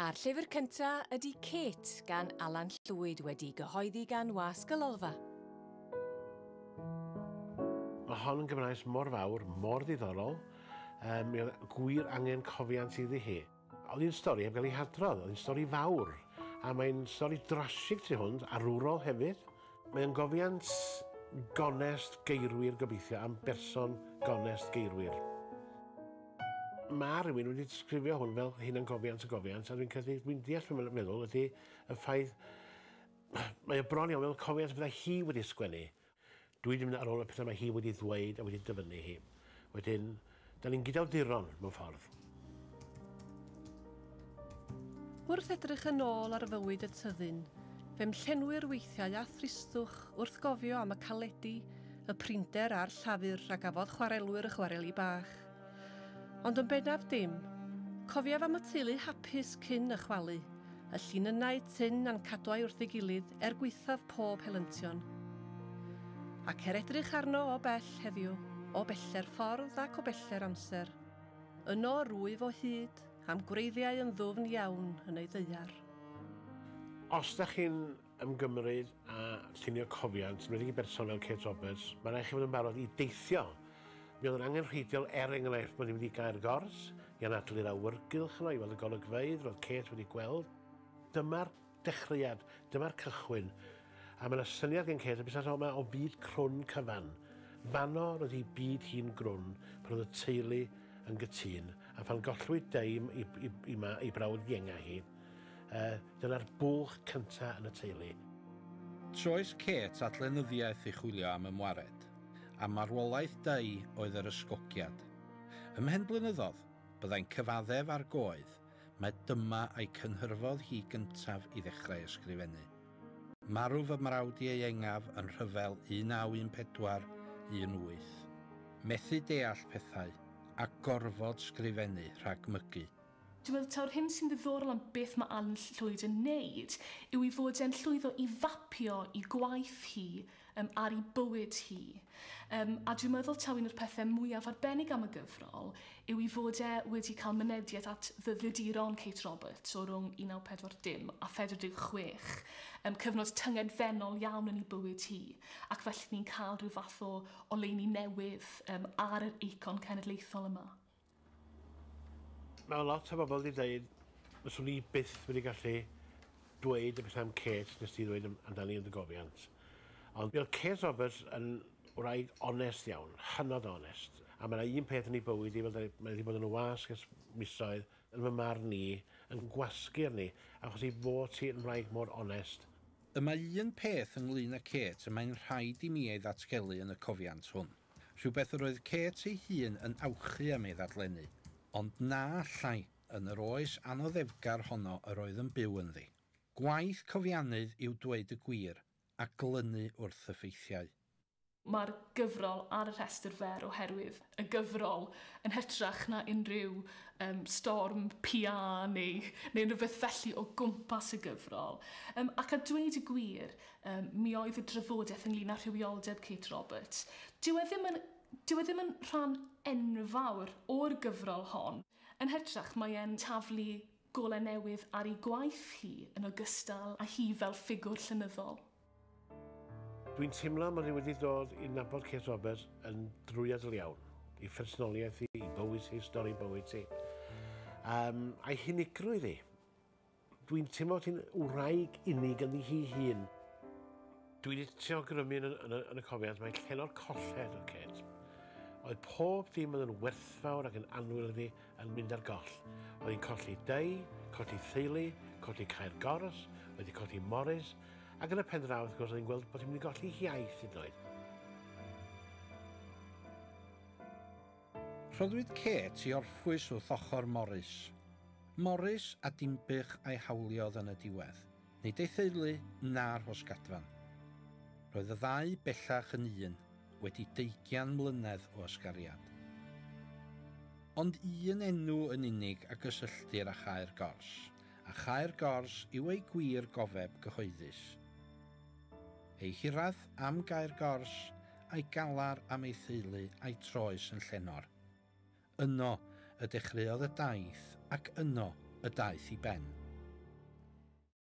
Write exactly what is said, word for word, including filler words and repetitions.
A'r llyfr cynta ydy Kate gan Alan Llwyd wedi gyhoeddi gan Wasg y Lolfa. Mae hon yn Gymraes mor fawr, mor ddiddorol. Um, mi oedd gwir angen cofiant iddi hi. Oedd hi'n stori heb gael ei hadrodd, oedd hi'n stori fawr. A mae'n stori drasig tu hwnt, arwrol hefyd. Mae'n gofiant gonest geirwir gobeithio, am berson gonest geirwir. Mae rhywun wedi disgrifio hwn fel hunangofiant y gofiant, a dwi'n credu, dwi'n deall beth mae'n meddwl, ydy y ffaith, mae o bron iawn fel cofiant byddai hi wedi sgwennu. Dwi wedi mynd ar ôl y pethau mae hi wedi ddweud a wedi dyfynnu hi. Wedyn, da ni'n gydawduron mewn ffordd. Wrth edrych yn ôl ar fywyd y tyddyn, fe'm llenwir weithiau a thristwch wrth gofio am y caledi, y prinder a'r llafur a gafodd chwarelwyr y chwareli bach. Ond yn bennaf dim, cofiaf am y teulu hapus cyn y chwalu, y llinynnau tynn a'n cadwai wrth ei gilydd er gwaethaf pob helyntion. Ac er edrych arno o bell heddiw, o beller ffordd ac o beller amser, yno rwyf o hyd am gwreiddiau yn ddwfn iawn yn ei ddaear. Os da chi'n ymgymryd a llunio cofiant, yn enwedig i berson fel Kate Roberts, mae'n rhaid chi fod yn barod i deithio. Mi oedd yn angenrheidiol, er enghraifft, bod ni'n mynd i Gaer Gors, i anadlu'r awyrgylch yno, i weld y golygfeydd roedd Kate wedi gweld. Dyma'r dechreuad, dyma'r cychwyn. A mae yna syniad gen Kate, y busnes yma o byd crwn cyfan. Fanno roedd hi byd hi'n grwn, pan oedd y teulu yn gytûn, a phan gollwyd Dei i, i, i, ma, i brawd ienga hi, uh, dyna'r bwlch cynta yn y teulu. Troes Kate at lenyddiaeth i chwilio am ymwared, a marwolaeth Dei oedd yr ysgogiad. Ymhen blynyddoedd, byddai'n cyfaddef ar goedd, mae dyma a'i cynhyrfodd hi gyntaf i ddechrau ysgrifennu. Marw fy mrawd ieuengaf yn rhyfel un naw un pedwar un wyth. Methu deall pethau a gorfod sgrifennu rhag mygu. Dwi'n meddwl taw'r hyn sy'n ddiddorol am beth mae Alan Llwyd yn neud yw i fod e'n llwyddo i fapio i gwaith hi um, ar ei bywyd hi. Um, a dwi'n meddwl taw un o'r pethau mwyaf arbennig am y gyfrol yw i fod e wedi cael mynediad at ddyddiaduron Kate Roberts o rhwng un naw pedwar dim a phedwar deg chwech, um, cyfnod tyngedfennol iawn yn ei bywyd hi, ac felly ni'n cael rhyw fath o oleuni newydd um, ar yr eicon cenedlaethol yma. Mae lot o bobl wedi dweud, fyswn i byth wedi gallu dweud y peth am Kate nes ti ddweud amdani yn dy gofiant. Ond mi oedd Kate Roberts yn wraig onest iawn, hynod onest. A mae yna un peth yn ei bywyd i, fel mae wedi bod yn y wasg ers misoedd, yn fy marn i, yn gwasgu arni, achos ei fod hi yn wraig mor onest. Y mae un peth ynglyn â Kate y mae'n rhaid i mi ei ddatgelu yn y cofiant hwn. Rhywbeth yr oedd Kate ei hun yn awchu am ei ddadlennu, ond na allai yn yr oes anoddefgar honno yr oedd yn byw ynddi. Gwaith cofiannydd yw dweud y gwir a glynu wrth y ffeithiau. Mae'r gyfrol ar y rhestr fer oherwydd y gyfrol yn hytrach na unrhyw um, storm P R neu, neu rhywbeth felly o gwmpas y gyfrol. Um, ac a dweud y gwir, um, mi oedd y drafodaeth ynglyn â rhywioldeb Kate Roberts. Dyw e ddim yn, dyw e ddim yn rhan enfawr o'r gyfrol hon. Yn hytrach, mae e'n taflu golau newydd ar ei gwaith hi yn ogystal â hi fel ffigwr llenyddol. Dwi'n teimlo mod i wedi dod i nabod Kate Roberts yn drwyadl iawn. I phersonoliaeth hi, i bywyd hi, stori bywyd hi. Um, a'i hunigrwydd hi. Dwi'n teimlo bod hi'n wraig unig ynddi hi hun. Dwi wedi trio grymu yn, yn, yn y cofiant, mae'n llenor colled o Kate. Oedd pob dim oedd yn werthfawr ac yn annwyl iddi yn mynd ar goll. Oedd hi'n colli Dei, colli theulu, colli Caer Gors, oedd hi'n colli Morris, ac yn y pen draw, wrth gwrs, oedd hi'n gweld bod hi'n mynd i golli hiaith hyd yn oed. Rhoddwyd Kate i orffwys wrth ochr Morris. Morris a Dinbych a'i hawliodd yn y diwedd. Nid ei theulu na'r Rhosgadfan. Roedd y ddau bellach yn un, wedi deugain mlynedd o ysgariad. Ond un enw yn unig a gysylltir â Chaer Gors, a Chaer Gors yw ei gwir gofeb gyhoeddus. Ei hiraeth am Gaer Gors, a'i galar am ei theulu a'i troes yn llenor. Yno y dechreuodd y daith ac yno y daeth i ben.